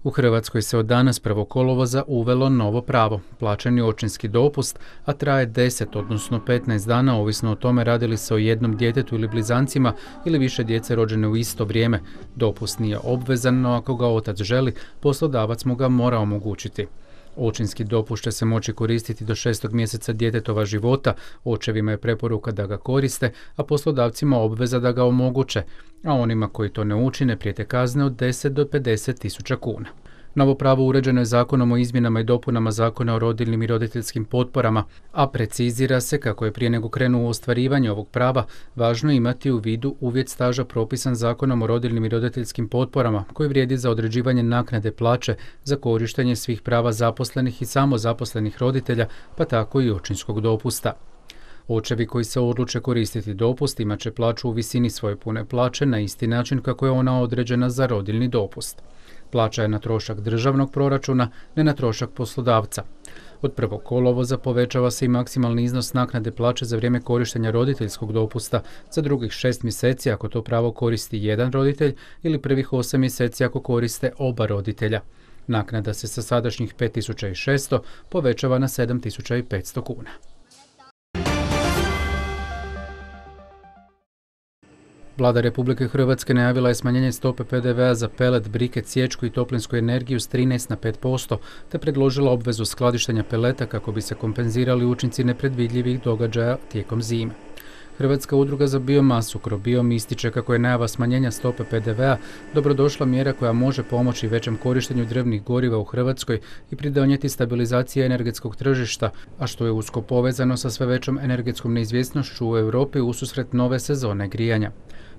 U Hrvatskoj se od danas 1. kolovoza uvelo novo pravo, plaćeni očinski dopust, a traje 10, odnosno 15 dana, ovisno o tome radi li se o jednom djetetu ili blizancima ili više djece rođene u isto vrijeme. Dopust nije obvezan, no ako ga otac želi, poslodavac mu ga mora omogućiti. Očinski dopust će se moći koristiti do 6. mjeseca djetetova života, očevima je preporuka da ga koriste, a poslodavcima obveza da ga omoguće, a onima koji to ne učine prijete kazne od 10 do 50 tisuća kuna. Novo pravo uređeno je Zakonom o izmjenama i dopunama Zakona o rodiljnim i roditeljskim potporama, a precizira se kako je prije nego krenu u ostvarivanje ovog prava važno imati u vidu uvjet staža propisan Zakonom o rodiljnim i roditeljskim potporama koji vrijedi za određivanje naknade plaće za korištenje svih prava zaposlenih i samozaposlenih roditelja, pa tako i očinskog dopusta. Očevi koji se odluče koristiti dopust imat će plaću u visini svoje pune plaće na isti način kako je ona određena za rodiljni dopust. Plaća je na trošak državnog proračuna, ne na trošak poslodavca. Od 1. kolovoza povećava se i maksimalni iznos naknade plaće za vrijeme korištenja roditeljskog dopusta za drugih 6 mjeseci ako to pravo koristi jedan roditelj ili prvih 8 mjeseci ako koriste oba roditelja. Naknada se sa sadašnjih 5.600 povećava na 7.500 kuna. Vlada Republike Hrvatske najavila je smanjenje stope PDV-a za pelet, briket, sječku i toplinsku energiju s 13 na 5%, te predložila obvezu skladištenja peleta kako bi se kompenzirali učinci nepredvidljivih događaja tijekom zime. Hrvatska udruga za biomasu Crobiom ističe kako je najava smanjenja stope PDV-a dobrodošla mjera koja može pomoći većem korištenju drvnih goriva u Hrvatskoj i pridonijeti stabilizaciji energetskog tržišta, a što je usko povezano sa sve većom energetskom neizvjesnošću u Europi ususret nove sezone grijanja.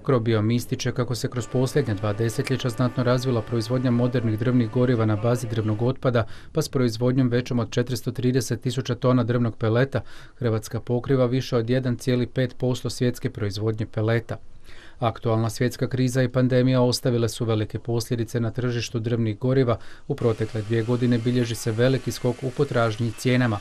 Crobiom ističe kako se kroz posljednja 2 desetljeća znatno razvila proizvodnja modernih drvnih goriva na bazi drvnog otpada, pa s proizvodnjom većom od 430.000 tona drvnog peleta Hrvatska pokriva više od 1,5% svjetske proizvodnje peleta. Aktualna svjetska kriza i pandemija ostavile su velike posljedice na tržištu drvnih goriva. U protekle 2 godine bilježi se veliki skok u potražnji i cijenama.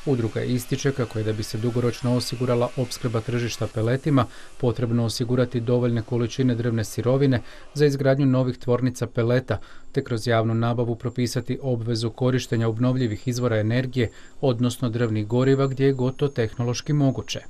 Udruga ističe kako je da bi se dugoročno osigurala opskrba tržišta peletima, potrebno osigurati dovoljne količine drvne sirovine za izgradnju novih tvornica peleta, te kroz javnu nabavu propisati obvezu korištenja obnovljivih izvora energije, odnosno drvnih goriva gdje je god to tehnološki moguće.